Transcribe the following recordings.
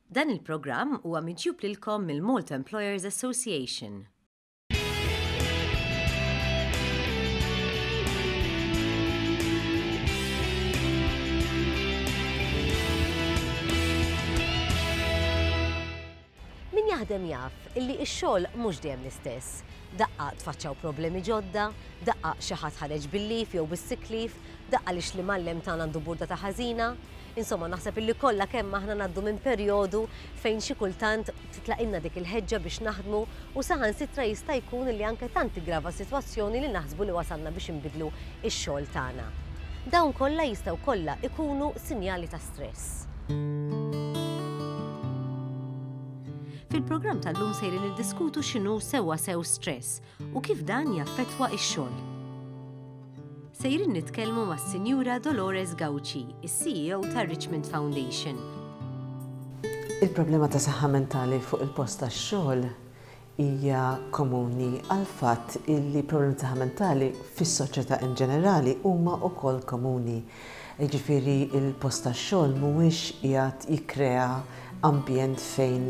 Dan il-programm huwa miġjub lilkom mill-Malta Employers Association. Min jaħdem jaf illi x-xogħol mhux dejjem l-istess. Daqqa tfaċċaw problemi ġodda, daqqa xi ħadd ħareġ bil-leave jew bis-sick leave, daqqa lix l-imgħallem tagħna għandu burdata ħażina. Insomma, naħseb illi kollha kemm aħna ngħaddu minn perjodu fejn xi kultant titlaqilna dik il-ħeġġa biex naħdmu u saħansitra jista' jkun illi anke tant tiggrava s-sitwazzjoni li naħsbu li wasalna biex inbiddlu x-xogħol tagħna. Dawn kollha jistgħu kollha ikunu sinjali ta' stress. Fil-programm tal-lum sejrin niddiskutu x'inhu sewwa sew stress u kif dan jaffettwa x-xogħol. Sejrin nitkellmu mas-Sinjura Dolores Gauci, is-CEO tar-Richmond Foundation. Il-problema ta' saħħa mentali fuq il-post tax-xogħol hija komuni għall-fatt illi problemi ta' saħħa mentali fis-soċjetà in ġenerali huma wkoll komuni. Jiġifieri l-post tax-xogħol mhuwiex qiegħed jikkrea ambjent fejn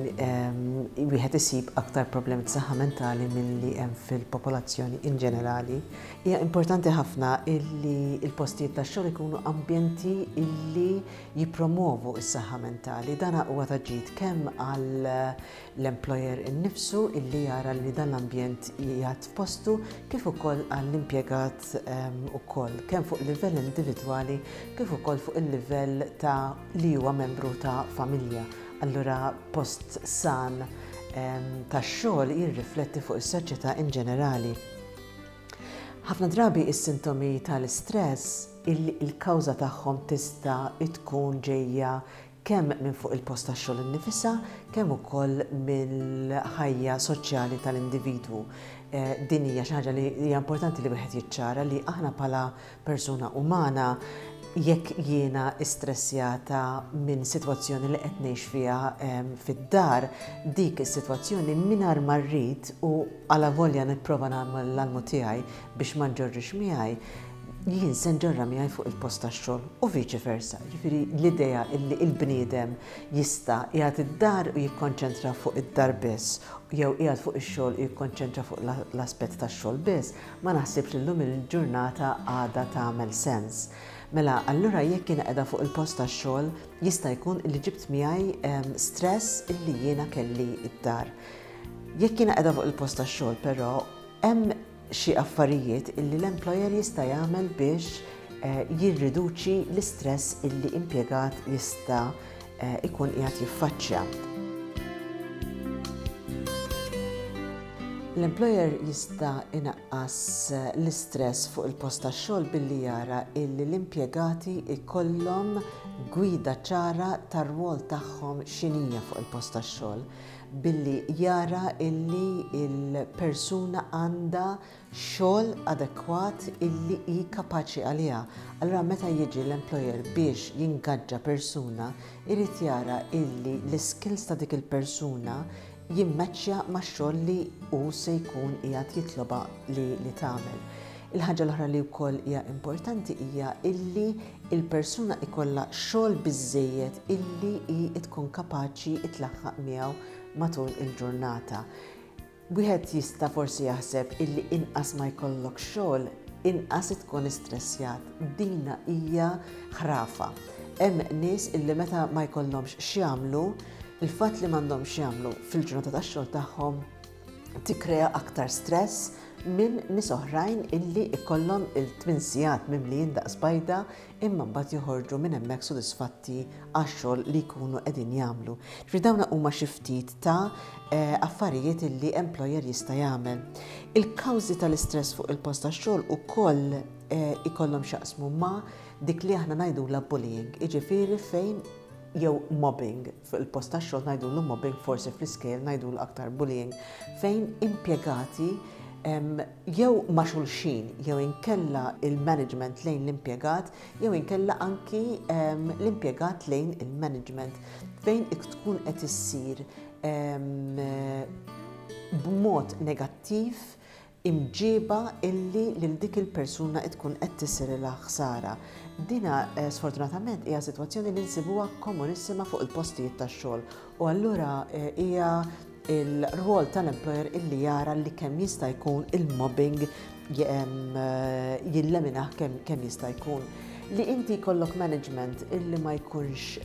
wieħed isib aktar problemi ta' saħħa mentali milli hemm fil-popolazzjoni in ġenerali. Hija importanti ħafna illi l-postijiet tax-xogħol ikunu ambjenti illi jippromovu s-saħħa mentali. Dan huwa ta' ġid kemm għal l-employer innifsu illi jara li dan l-ambjent qiegħed f'postu kif ukoll għall-impjegat ukoll, kemm fuq livell individwali kif ukoll fuq il-livell ta' li huwa membru ta' familja. Allura post san tax-xogħol jirrifletti fuq is-soċjetà in ġenerali. Ħafna drabi is-sintomi tal-istress illi l-kawża tagħhom tista' tkun ġejja kemm minn fuq il-post tax-xogħol innifisha kemm ukoll mill-ħajja soċjali tal-individwu. Din hija xi ħaġa li hija importanti li wieħed jiċċara li aħna bħala persuna umana jekk jiena istressjata minn sitwazzjoni li qed ngħix fiha fid-dar, dik is-sitwazzjoni mingħajr ma rrid u alavolja nipprova nagħmel l-almu tiegħi biex ma nġorrix miegħi, jien se nġorrha miegħi fuq il-post tax-xogħol u viċi versa. Jiġifieri l-idea illi l-bniedem jista' qiegħed id-dar u jikkonċentra fuq id-dar biss jew qiegħed fuq ix-xogħol u jikkonċentra fuq l-aspett tax-xogħol biss, ma naħsibx li llum il-ġurnata għadha tagħmel sens. Mela allura jekk jiena qiegħda fuq il-post tax-xogħol jista' jkun illi ġibt miegħi stress illi jiena kelli d-dar. Jekk jiena qiegħda fuq il-post tax-xogħol però hemm xi affarijiet illi l-employer jista' jagħmel biex jirriduċi l-istress illi impjegat jista' jkun qiegħed jiffaċċja. L-employer jista' inaqqas l-istress fuq il-post tax-xogħol billi jara illi l-impjegati jkollhom gwida ċara tar-rwol tagħhom x'inhija fuq il-post tax-xogħol. billi jara illi l-persuna għandha xogħol adekwat illi hi kapaċi għaliha. Allura meta jiġi l-employer biex jingaġġa persuna, irid jara illi l-iskills ta' dik il-persuna jimmeċċja max-xogħol li hu se jkun qiegħed jitlobha li li tagħmel. Il-ħaġa l-oħra li wkoll hija importanti hija illi il-persuna ikollha xogħol biżżejjed illi hi tkun kapaċi tlaħħaq miegħu matul il-ġurnata. Wieħed jista' forsi jaħseb illi inqas ma jkollok xogħol, inqas tkun istressjat. Dina hija ħrafa. Hemm nies illi meta ma jkollhomx x'jagħmlu, il-fatt li m'għandhomx x'jagħmlu fil-ġurnata tax-xogħol tagħhom tikkrea aktar stress minn nies oħrajn illi ikollhom il-tmin sigħat mimlijin daqs bajda imma mbagħad joħorġu minn hemmhekk sodisfatti għax-xogħol li jkunu qegħdin jagħmlu. Ġifieri dawn huma xi ftit ta' eh, affarijiet illi employer jista' jagħmel. Il-kawżi tal-istress fuq il-post tax-xogħol ukoll eh, ikollhom x'jaqsmu ma' dik li aħna ngħidulha bullying, jiġifieri fejn jew mobbing, fuq il-post tax-xogħol ngħidulu mobbing, forsi fl-iskejjel ngħidulu aktar bullying, fejn impjegati jew ma' xulxin jew inkella il-management lejn l-impjegat jew inkella anki l-impjegat lejn il-management fejn tkun qed issir b'mod negattiv imġieba illi lil dik il-persuna tkun qed tisirilha ħsara. Dina sfortunatament hija sitwazzjoni li nsibuha komunissima fuq il-postijiet tax-xogħol u allura hija il-rwol tal-employer illi jara li kemm jista' jkun il-mobbing jilleminah kemm jista' jkun. Li inti jkollok management illi ma jkunx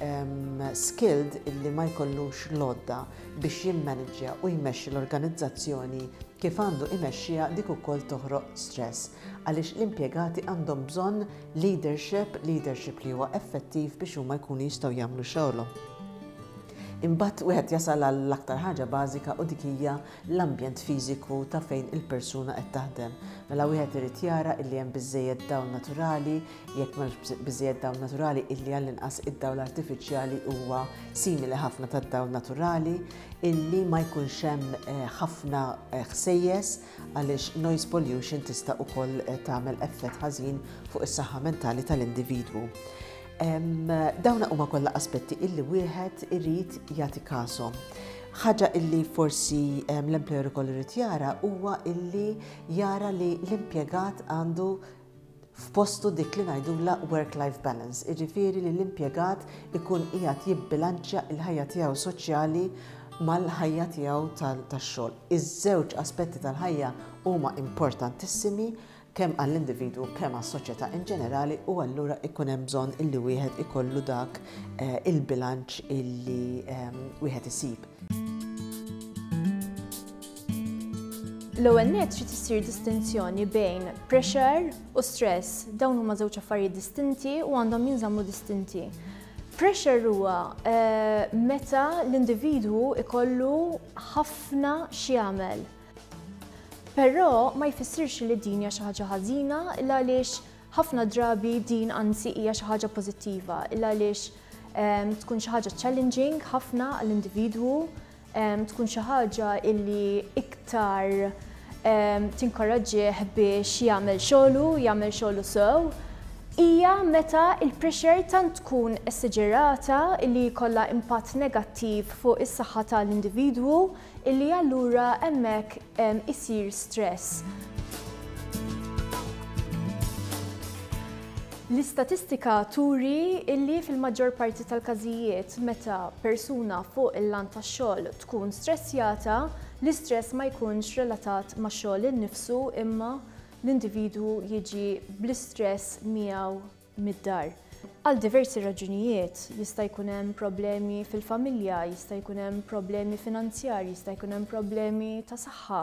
skilled, illi ma jkollux l-għodda biex jimmaniġġja u jmexxi l-organizzazzjoni kif għandu imexxiha dik ukoll toħroq stress għaliex l-impjegati għandhom bżonn leadership, leadership li huwa effettiv biex huma jkunu jistgħu jagħmlu xogħolhom. Imbagħad wieħed jasal għall-aktar ħaġa bażika u dik hija l-ambjent fiżiku ta' fejn il-persuna qed taħdem. Mela wieħed irid jara illi hemm biżżejjed dawl naturali, jekk m'hemmx biżżejjed dawl naturali illi għall-inqas id-dawl artifiċjali huwa simili ħafna tad-dawl naturali, illi ma jkunx hemm eh, ħafna eh, ħsejjes għaliex noise pollution tista' ukoll eh, tagħmel effett ħażin fuq is-saħħa mentali tal-individwu. Dawna huma kollha aspetti illi wieħed irid jagħti kashom. Ħaġa illi forsi l-employer ukoll irid jara huwa illi jara li l-impjegat għandu f'postu dik li ngħidulha work-life balance, jiġifieri li l-impjegat ikun qiegħed jibbilanċja l-ħajja tiegħu soċjali mal-ħajja tiegħu tax-xogħol. Iż-żewġ aspetti tal-ħajja huma importantissimi kemm għall-individwu kemm għas-soċjetà in ġenerali u allura ikun hemm bżonn illi wieħed ikollu dak eh, il-bilanċ illi ehm, wieħed isib. L-ewwel nett trid issir distinzjoni bejn pressure u stress. Dawn huma żewġ affarijiet distinti u għandhom jinżammu distinti. Pressure huwa eh, meta l-individwu ikollu ħafna x'jagħmel. Però ma jfissirx li din hija xi ħaġa ħażina illa għaliex ħafna drabi din anzi hija xi ħaġa pożittiva illa għaliex ehm, tkun xi ħaġa challenging ħafna għall-individwu, ehm, tkun xi ħaġa illi iktar ehm, tinkoraġġih biex jagħmel xogħlu, jagħmel xogħlu sew. Hija meta il-pressure tant tkun esaġerata illi jkollha impatt negattiv fuq is-saħħa tal-individwu Illi allura hemmhekk isir stress. L-istatistika turi illi fil-maġġor parti tal-każijiet meta persuna fuq il-lant tax-xogħol tkun stressjata, l-istress ma jkunx relatat max-xogħol innifsu imma l-individwu jiġi bl-istress miegħu mid-dar. Għal diversi raġunijiet, jista' jkun hemm problemi fil-familja, jista' jkun hemm problemi finanzjarji, jista' jkun hemm problemi ta' saħħa.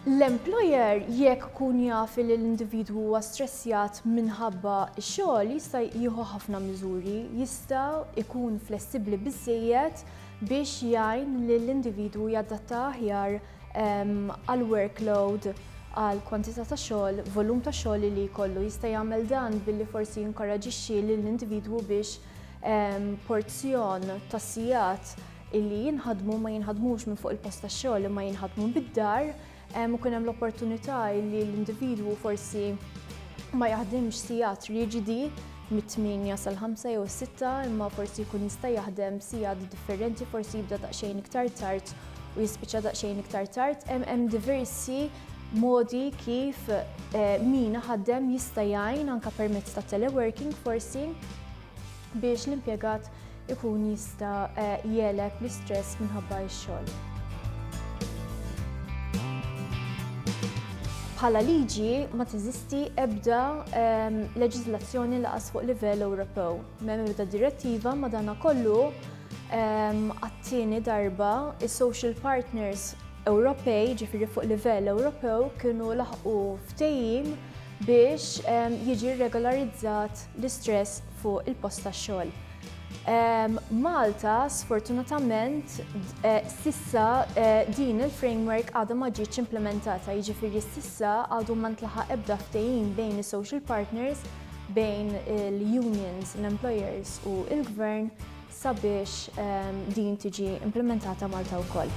L-employer jekk ikun jaf li l-individwu huwa stressjat minħabba x-xogħol jista' jieħu ħafna miżuri, jista' jkun flessibbli biżżejjed biex jgħin lill-individwu jadatta aħjar għall-workload, għal kwantità ta' xogħol, volum ta' xogħol li jkollu. Jista' jagħmel dan billi forsi jinkoraġixxi lill-individwu biex porzjon ta' sigħat illi jinħadmu ma jinħadmux minn fuq il-post tax-xogħol imma jinħadmu bid-dar, ikun hemm l-opportunità illi l-individwu forsi ma jaħdimx sigħat riġidi mit-tmienja sal-ħamsa jew is-sitta imma forsi jkun jista' jaħdem sigħat differenti, forsi jibda daqsxejn iktar tard u jispiċċa daqsxejn iktar tard. Hemm diversi modi kif eh, min ħaddem jista' jgħin anke permezz ta' teleworking forsi biex l-impjegat ikun jista' eh, jegħleb l-istress minħabba x-xogħol. Bħala liġi ma teżisti ebda ehm, leġiżlazzjoni laqas fuq livell Ewropew. M'hemm ebda direttiva madanakollu ehm, għat-tieni darba is-social partners Ewropej, ġifieri fuq livell Ewropew, kienu laħqu ftehim biex ehm, jiġi regolarizzat l-istress fuq il-post tax-xogħol. Malta, sfortunatament, eh, sissa eh, din il-framework għadha ma ġietx implementata, jiġifieri sissa għadu ma ntlaħaq ebda ftehim bejn is-social partners, bejn il-unions, l-employers u il-gvern sabiex din tiġi implementata Malta wkoll.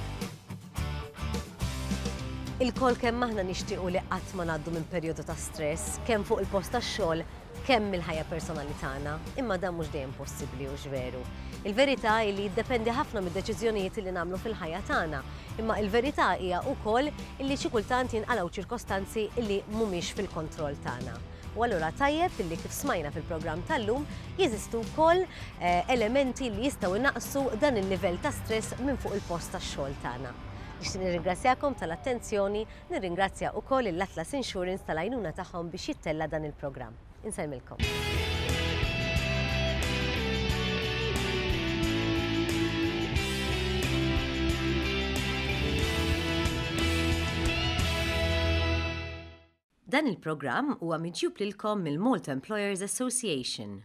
Ilkoll kemm aħna nixtiequ li qatt ma ngħaddu minn perjodu ta' stress, kemm fuq il-post tax-xogħol, kemm mill-ħajja personali tagħna, imma dan mhux dejjem possibbli hux veru. Il-verità hi li jiddependi ħafna mid-deċiżjonijiet li nagħmlu fil-ħajja tagħna, imma il-verità hija wkoll illi xi kultant jinqalgħu ċirkostanzi illi mhumiex fil-kontroll tagħna. U allura tajjeb illi kif smajna fil-programm tal-lum jeżistu wkoll eh, elementi li jistgħu jnaqqsu dan il-livell ta' stress minn fuq il-post tax-xogħol tagħna. Nixtieq nirringrazzjakom tal-attenzjoni, nirringrazzja wkoll l-Atlas Insurance tal-għajnuna tagħhom biex jittella' dan il-programm. Insellmilkom. Dan il-programm huwa miġjub lilkom mill-Malta Employers Association.